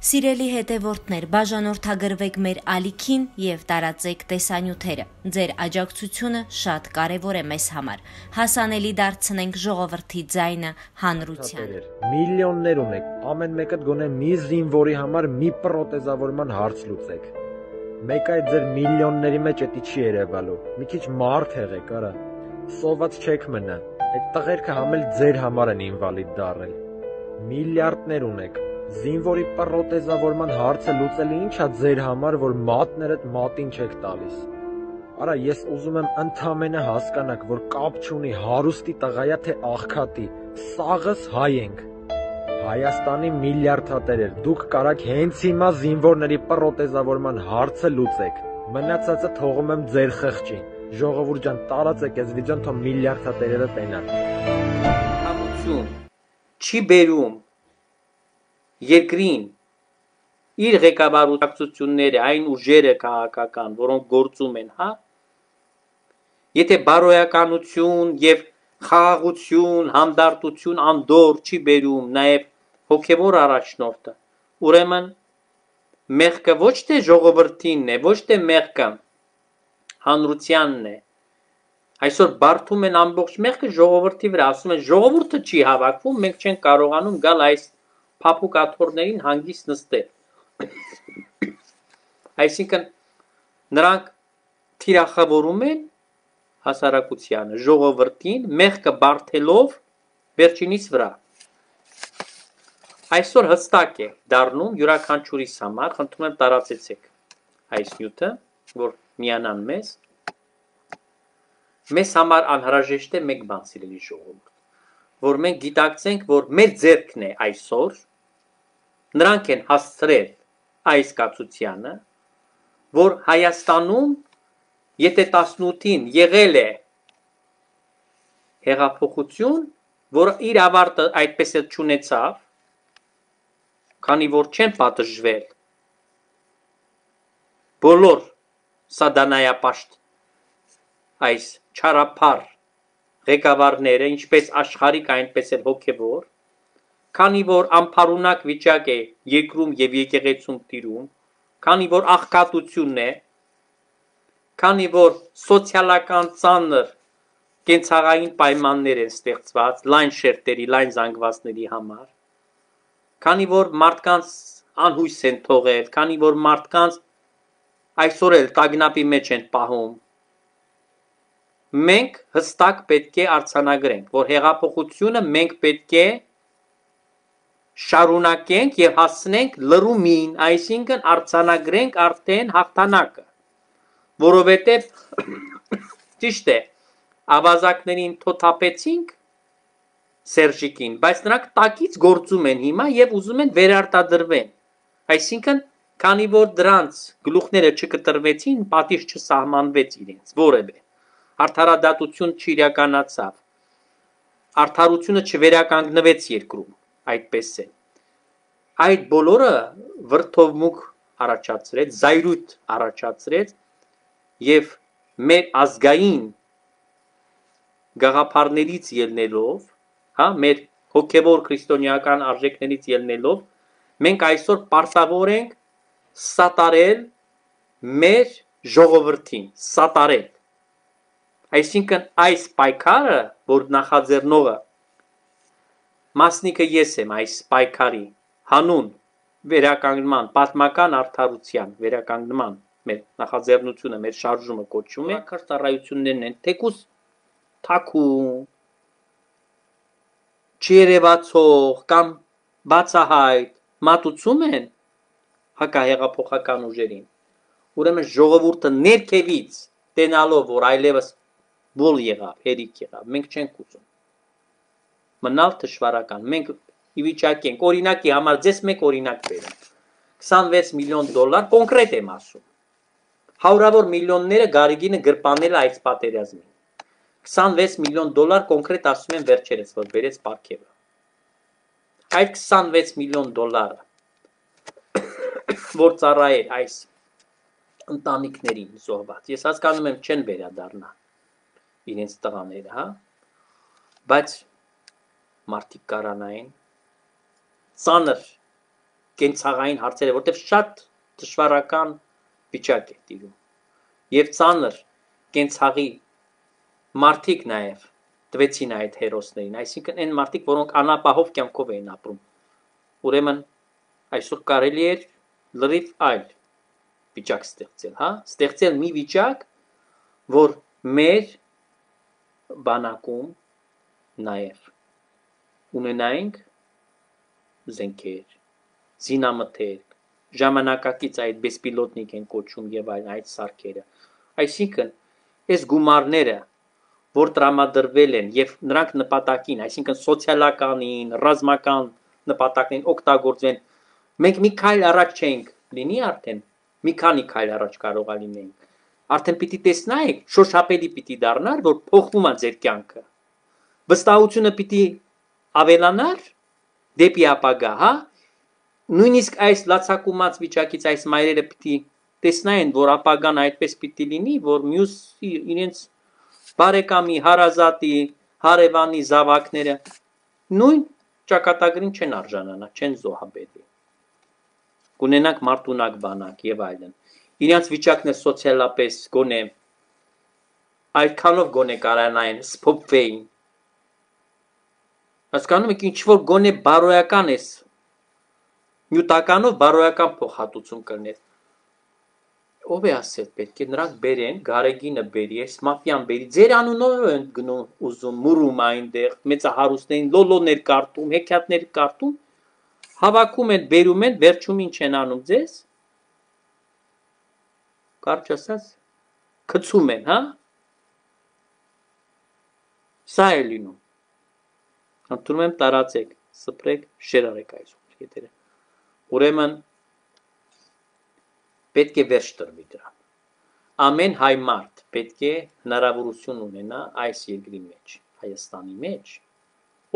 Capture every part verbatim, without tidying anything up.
Սիրելի հետևորդներ, բաժանորդագրվեք մեր ալիքին և տարածեք տեսանյութերը։ Ձեր աջակցությունը շատ կարևոր է մեզ համար։ Հասանելի դարձնենք ժողովրդի ձայնը հանրությանը։ Միլիոններ ունեք, ամեն մեկդ գոնե մի զինվորի համար մի պրոթեզավորման հարց լուծեք։ Մեկ այդ ձեր միլիոնների մեջ էտի չի երևալու։ Մի քիչ մարդ եղեք, արա։ Սոված չեք մնա։ Այդ տղերքը համ էլ ձեր համար են ինվալիդ դառել։ Միլիարդներ ունեք։ Զինվորի պրոթեզավորման հարցը լուծելը ի՞նչ է ձեր համար, որ մատներդ մատին չեք տալիս։ Արա, ես ուզում եմ ընդամենը հասկանաք, որ կապ չունի հարուստի տղայա թե աղքատի, սաղս հայ ենք։ Հայաստանի միլիարդատերեր, դուք կարաք հենց հիմա զինվորների պրոթեզավորման հարցը լուծեք։ Մնացածը թողում եմ ձեր խղճին։ Ժողովուրդ ջան, տարածեք այս վիդեոն, թող միլիարդատերերը տենան։ Համություն չի բերում երկրին իր ղեկավարությունները, այն ուժերը քաղաքական, որոնք գործում են, հա, եթե բարոյականություն եւ խաղաղություն, հանդարտություն անդոր չի բերում նաեւ հոգեվոր առաջնորդը, ուրեմն մեղքը ոչ թե ժողովրդինն է, ոչ թե մեղքը հանրությանն է, այսօր բարդում են ամբողջ մեղքը ժողովրդի վրա, ասում են ժողովուրդը չի հավաքվում, մենք չենք կարողանում գալ այս փափուկ աթոռներին հանգիստ նստել։ Այսինքն նրանք թիրախավորում են հասարակությանը, ժողովրդին, մեղքը բարդելով վերջինիս վրա։ Այսօր հստակ է դառնում յուրաքանչյուրիս համար, խնդրում եմ տարածեցեք այս նյութը, որ միանան մեզ։ Մեզ համար անհրաժեշտ է մեկ բան, սիրելի ժողովուրդ, որ մենք գիտակցենք, որ մեր ձեռքն է այսօր, նրանք են հասցրել այս կացությանը, որ Հայաստանում, եթե տասնութին եղել է հեղափոխություն, որ իր ավարտը այդպես էլ չունեցավ, քանի որ չեն պատժվել բոլոր սադանայապաշտ այս չարափառ ղեկավարները, ինչպես աշխարհիկ, այնպես էլ հոգևոր, քանի որ անփարունակ վիճակ է երկրում եւ եկեղեցում տիրում, քանի որ աղքատությունն է, քանի որ սոցիալական ծանր կենցաղային պայմաններ են ստեղծված լայն շերտերի, լայն զանգվածների համար, քանի որ մարդկանց անհույս են թողել, քանի որ մարդկանց այսօր էլ տագնապի մեջ են պահում, մենք հստակ պետք է արձանագրենք, որ հեղափոխությունը մենք պետք է շարունակենք եւ հասնենք լրումին, այսինքն արձանագրենք արդեն հաղթանակը, որովհետեւ ճիշտ է, ավազակներին թոթափեցինք Սերժիկին, բայց նրանք տակից գործում են հիմա եւ ուզում են վերարտադրվեն, այսինքն քանի որ դրանց գլուխները չկտրվեցին, պատիժ չսահմանվեց իրենց, որևէ արդարադատություն չիրականացավ, արդարությունը չվերականգնվեց երկրում, այդպես է։ Այդ բոլորը վրդովմունք առաջացրեց, զայրույթ առաջացրեց եւ մեր ազգային գաղափարներից ելնելով, հա, մեր հոգեվոր քրիստոնեական արժեքներից ելնելով, մենք այսօր պարտավոր ենք սատարել մեր ժողովրդին, սատարել։ Այսինքն այս պայքարը, որ նախաձեռնողը մասնիկը ես եմ այս պայքարի հանուն վերականգնման, պատմական արդարության վերականգնման մեր նախաձեռնությունը, մեր շարժումը կոչում է, քրտարայություններն են, թեկուս թաքուն, չերևացող կամ բացահայտ մատուցում են հակահեղափոխական ուժերին, ուրեմն ժողովուրդը ներքևից տենալով, որ այլևս բոլ եղավ, հերիք եղավ, մենք չենք ուզում մնալ թշվարական, մենք ի վիճակի ենք, օրինակի համար ձեզ մեկ օրինակ բերեմ, քսանվեց միլիոն դոլար, կոնկրետ եմ ասում, հարյուրավոր միլիոնները Գարեգինը գրպանել է այս պատերազմին, քսանվեց միլիոն դոլար կոնկրետ ասում են վերջերս, որ բերեց պարգևը, այդ քսանվեց միլիոն դոլարը, որ ծառայել այս ընտանիքներին զոհված, ես հասկանում եմ չեն վերադառնա իրենց տղաները, հա, բայց մարդիկ կարանային, ծանր կենցաղային հարցերը, որտեղ շատ դժվարական վիճակ է տիրում։ Եվ ծանր կենցաղի մարդիկ նաև տվեցին այդ հերոսներին, այսինքն այն մարդիկ, որոնք անապահով կյանքով էին ապրում։ Ուրեմն այսօր կարելի էր լրիվ այլ վիճակ ստեղծել, հա, ստեղծել մի վիճակ, որ մեր բանակում նաև ունենայինք զենքեր, զինամթերք, ժամանակակից այդ բեսպիլոտնիկ են կոչում եւ այլն այդ սարքերը։ Այսինքն, այս գումարները, որ տրամադրվել են եւ նրանք նպատակին, այսինքն սոցիալականին, ռազմական նպատակներին օգտագործեն, մենք մի քայլ առաջ չենք լինի արդեն, մի քանի քայլ առաջ կարողա լինենք։ Արդեն պիտի տեսնայիք, շոշափելի պիտի դառնար, որ փոխվում է ձեր կյանքը։ Վստահությունը պիտի ավելանար դեպի ապագա, հա։ Նույնիսկ այս լացակումած վիճակից այս մայրերը պիտի տեսնային, որ ապագան այդպես պիտի լինի, որ մյուս իրենց բարեկամի, հարազատի, հարևանի զավակները նույն ճակատագրին չեն արժանանա, չեն զոհաբերվի։ Կունենանք մարդունակ բանակ եւ այլն։ Իրենց վիճակն է սոցիալապես գոնե այդքանով գոնե կարանային սփոփվեին։ Հասկանում եք, ինչ որ գոնե բարոյական է, նյութականով բարոյական փոխհատուցում կլներ։ Ով է ասել, պետք է նրանք բերեն, Գարեգինը բերի, այս մաֆիան բերի, ձեր անունով են գնում ուզում, մուրում այնտեղ, մեծահարուստներին լոլոներ կարտում, հեքիաթներ կարտում, հավաքում են, բերում են, վերջում ինչ են անում ձեզ։ Կարճ ասած, գցում են, հա։ Սա է լինում։ Ընդունում եմ տարածեք, սփռեք, շեր արեք այսօր եթերը։ Ուրեմն պետք է վերջ տրվի դրան։ Ամեն հայ մարդ պետք է հնարավորություն ունենա այս երկրի մեջ, Հայաստանի մեջ,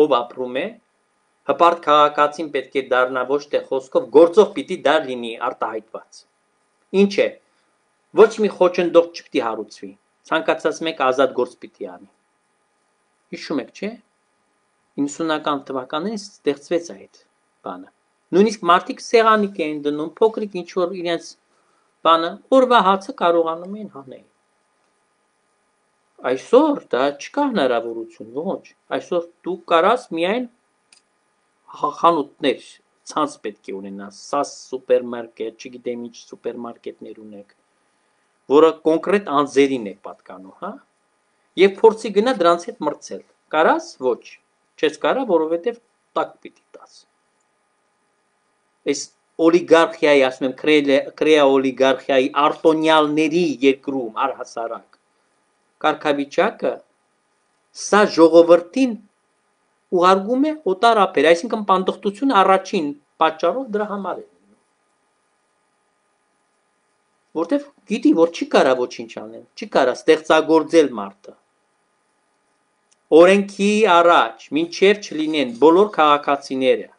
ով ապրում է, հպարտ քաղաքացին պետք է դառնա ոչ թե խոսքով, գործով պիտի դա լինի արտահայտված։ Ինչ է, ոչ մի խոչընդոտ չպիտի հարուցվի, ցանկացած մեկ ազատ գործ պիտի անի։ Հիշում եք, չէ՞։ իննսունական թվականներին ստեղծվեց այդ բանը։ Նույնիսկ մարդիկ սեղանիկ էին դնում, փոքրիկ ինչ որ իրենց բանը, օրվա հացը կարողանում էին հանել։ Այսօր դա չկա հնարավորություն, ոչ։ Այսօր դու կարաս միայն խանութներ, ցանց պետք է ունենաս, սաս սուպերմարկետ, չգիտեմ ինչ սուպերմարկետներ ունեք, որը կոնկրետ անձերին է պատկանում, հա։ Եվ փորձի գնա դրանց հետ մրցել։ Կարաս, ոչ։ Չես կարա, որովհետև տակ պիտի տաս։ Այս օլիգարխիայի, ասում եմ, կրեա օլիգարխիայի արտոնյալների երկրում առհասարակ կարգավիճակը սա ժողովրդին ուղարկում է օտար ափեր, այսինքն պանդխտությունը առաջին պատճառով դրա համար է լինում։ Որտեվ գիտի, որ չի կարա ոչինչ անել, չի կարա ստեղծագործել մարդը։ Օրենքի առաջ, մինչև չլինեն բոլոր քաղաքացիները,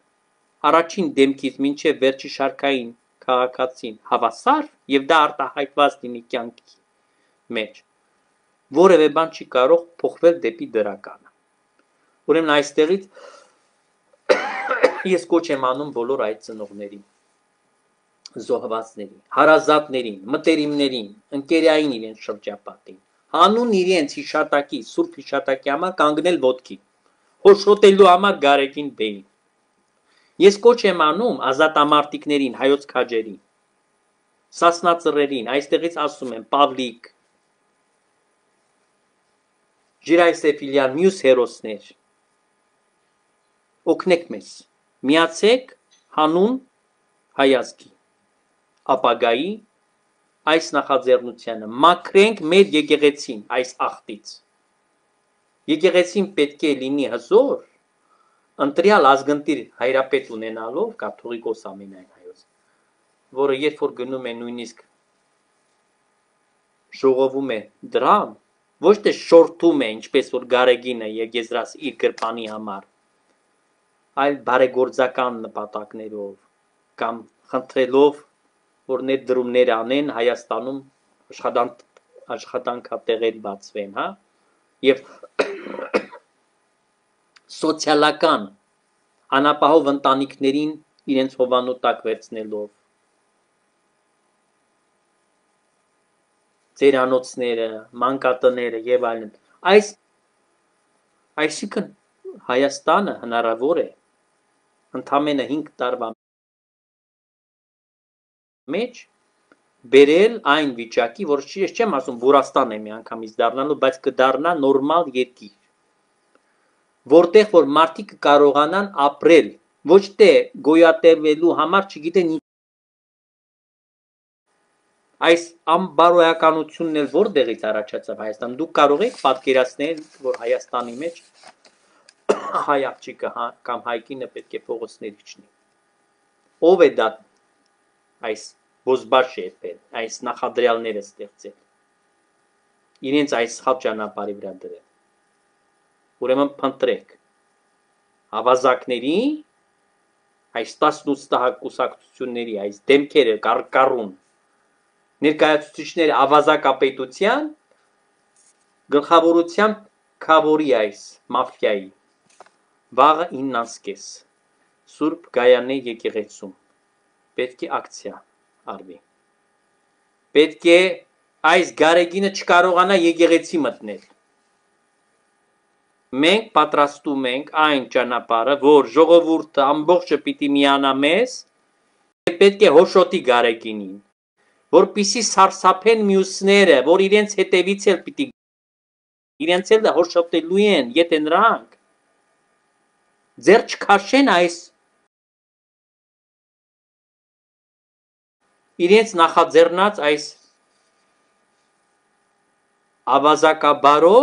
առաջին դեմքից մինչև վերջի շարքային քաղաքացին հավասար եւ դա արտահայտված լինի կյանքի մեջ, որևէ բան չի կարող փոխվել դեպի դրականը։ Ուրեմն այստեղից ես կոչ եմ անում բոլոր այդ ծնողներին, զոհվածներին, հարազատներին, մտերիմներին, ընկերային իրենց շրջապատին, հանուն իրենց հիշատակի, սուրբ հիշատակի համար կանգնել ոտքի, հոշոտելու համար Գարեգին Բեին։ Ես կոչ եմ անում ազատամարտիկներին, հայոց քաջերին, Սասնածռերին, այստեղից ասում եմ Պավլիկ, Ժիրայր Սեֆիլյան, մյուս հերոսներ, օգնեք մեզ, միացեք հանուն հայազգի, ապագայի այս նախաձեռնությանը, մաքրենք մեր եկեղեցին այս աղտից։ Եկեղեցին պետք է լինի հզոր, ընտրյալ ազգընտիր հայրապետ ունենալով, կաթողիկոս ամենայն հայոց, որը երբ որ գնում է նույնիսկ ժողովում է դրամ, ոչ թե շորթում է, ինչպես որ Գարեգինը եկեզրած իր գրպանի համար, այլ բարեգործական նպատակներով կամ խնդրելով, որ ներդրումներ անեն Հայաստանում աշխատանքատեղեր բացվեն, հա, եւ սոցիալական անապահով ընտանիքներին իրենց հովանու տակ վերցնելով ծերանոցները, մանկատները եւ այլն։ Այս այսինքն Հայաստանը հնարավոր է ընդամենը հինգ տարվա մեջ բերել այն վիճակի, որ ես չեմ ասում Վուրաստան է միանգամից դառնալու, բայց կդառնա նորմալ երկիր, որտեղ որ մարդիկ կարողանան ապրել, ոչ թե գոյատևելու համար, չգիտեն ինչ։ Այս անբարոյականությունն էլ որտեղից առաջացավ Հայաստան։ Դուք կարող եք պատկերացնել, որ Հայաստանի մեջ հայ աղջիկը կամ հայկինը պետք է փողոցներ իջնի։ Ով է դա այս բոզբաշ եպել, այս նախադրյալները ստեղծել, իրենց այս սխալ ճանապարհի վրա դրել։ Ուրեմն փնտրեք ավազակների, այս տասնութ կուսակցությունների, այս դեմքերը կառուն ներկայացուցիչները ավազակապետության գլխավորությամբ քավորի այս մաֆիայի վաղը իննանսկես Սուրբ Գայանե եկեղեցում պետք է ակցիա արվի։ Պետք է այս գարեգինը չկարողանա եկեղեցի մտնել։ Մենք պատրաստում ենք այն ճանապարհը, որ ժողովուրդը ամբողջը պիտի միանա մեզ, պետք է հոշոտի գարեգինին, որպիսի սարսափեն մյուսները, որ իրենց հետևից էլ պիտի իրենց էլ հոշոտելու են, եթե նրանք ձեր չքաշեն այս իրենց նախաձեռնած այս ավազակաբարո